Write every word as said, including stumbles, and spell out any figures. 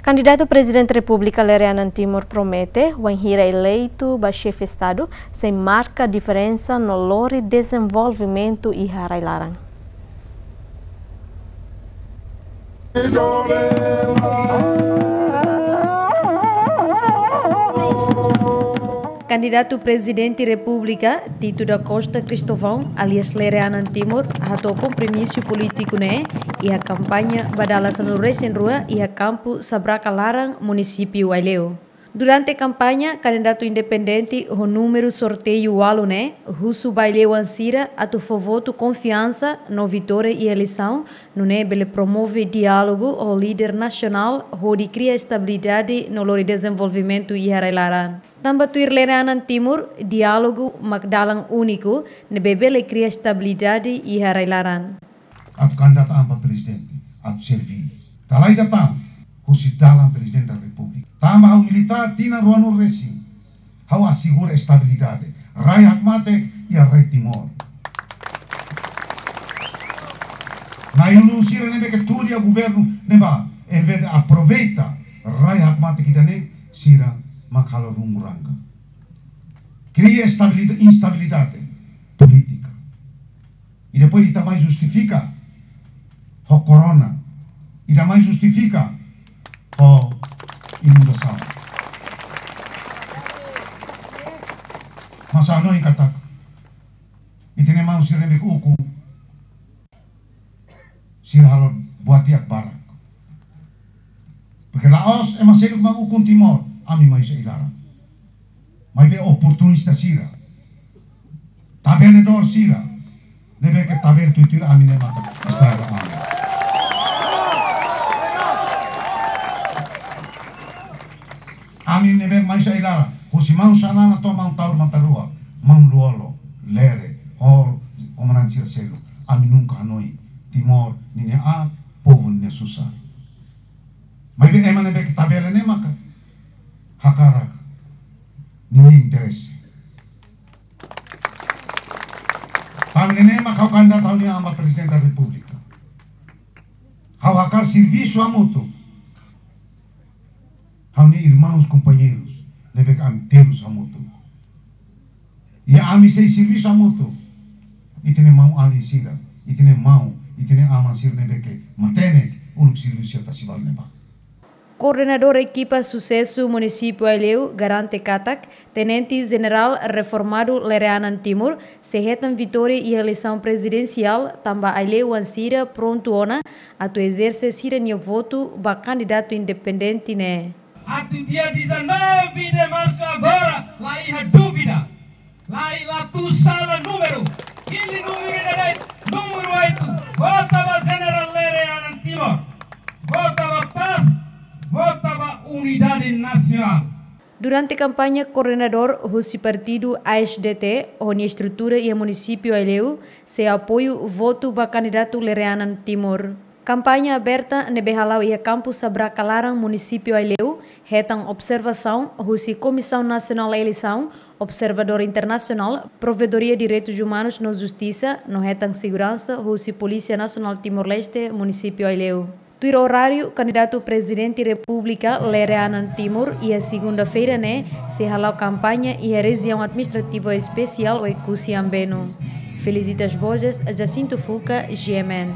Kandidatu Prezidente Repúblika Lere Anan Timur promete, wainhira eleitu ba xefe Estadu, sei marka diferensa no lori dezenvolvimentu iha rai-laran. Kandidatu Prezidente Repúblika, Tito da Costa Cristóvão, alias Lere Anan Timur, hato'o kompromisu polítiku ne'e iha kampaña ba dala sanulu-resin-rua iha kampu Sabraka Laran, Munisípiu Aileu. Durante kampaña, kandidatu independente ho númeru sorteiu ualu ne'e husu ba aileu-oan sira atu fó votu konfiansa no vitória iha eleisaun, nune'e bele promove diálogu ho líder nasionál hodi kria estabilidade no lori dezenvolvimentu iha rai-laran. Tanba tuir Lere Anan Timur, diálogu mak dalan úniku ne'ebé bele kria estabilidade iha rai-laran. Atu kandidata an ba prezidente, atu serví. Dala ida tan, husi dalan Prezidente da Repúblika. Tanba ha'u militár tinan ruanulu-resin, ha'u asegura estabilidade. Rai hakmatek iha rai Timor. Na'i-ulun sira ne'ebé ke tuur iha governu ne'ebá, envezde aproveita rai hakmatek ida-ne'e, sira mak halo rumbu ranga. Kria estabilida-, instabilidade polítika. I depois ita mai justifika ho korona. Ita mai justifika ho inundasaun. Mas ha'u hanoin katak ita-nia maun sira ne'ebé ukun, sira halo buat di'ak barak. Porque la'ós ema seluk mak ukun Timor, ami mai husi ai-laran. Maibé oportunista sira, tabeladór sira, ne'ebé ke tabela tuituir ami ne'e maka estraga ami. Ami ne'ebé mai husi ai-laran, husi maun Xanana to'o maun Taur Matan Ruak, maun Lú-Olo, Lere, ho komandante sira seluk. Ami nunka hanoin Timor ninia aat, povu ninia susar. Maibé ema ne'ebé ke tabela ne'e maka hakarak ninia interese. Tanba ne'e mak ha'u kandidata ha'u-nia an ba Prezidente da Repúblika. Ha'u hakarak servisu hamutuk ha'u-nia irmaun, kompañeiru ne'ebé ke ami terus hamutuk. I ami sei servisu hamutuk. Ita-nia maun-alin sira, ita-nia maun, ita-nia aman sira ne'ebé ke matenek uluk servisu iha Tasi Balu ne'ebá. Koordenadór ekipa susesu Munisípiu Aileu garante katak Tenente Jenerál reformadu Lere Anan Timur sei hetan vitória iha eleisaun prezidensiál, tanba aileu-oan sira prontu ona atu ezerse sira-nia votu ba kandidatu independente ne'e. Atu dia dezanove de março agora, la iha dúvida, la iha, la tuir sala númeru, hili númeru ida de'it, númeru oito, vota ba Jenerál Lere Anan Timur, vota ba pás, vota ba unidade nasionál. Durante kampaña, koordenadór husi partidu A S D T ho nia estrutura iha Munisípiu Aileu sei apoiu votu ba kandidatu Lere Anan Timur. Kampaña aberta ne'ebé hala'o iha kampu Sabraka Laran, Munisípiu Aileu, hetan observasaun husi Komisaun Nasionál Eleisaun, observadór internasionál, Provedoria Direitus Umanus no Justisa, no hetan seguransa husi Polísia Nasionál Timor-Leste, Munisípiu Aileu. Tuir oráriu, kandidatu Prezidente Repúblika Lere Anan Timur iha segunda-feira ne'e sei hala'o kampaña iha Rejiaun Administrativa Espesiál Oekusi Ambeno. Felicitas Borges, Jacinto Fuca, G M N.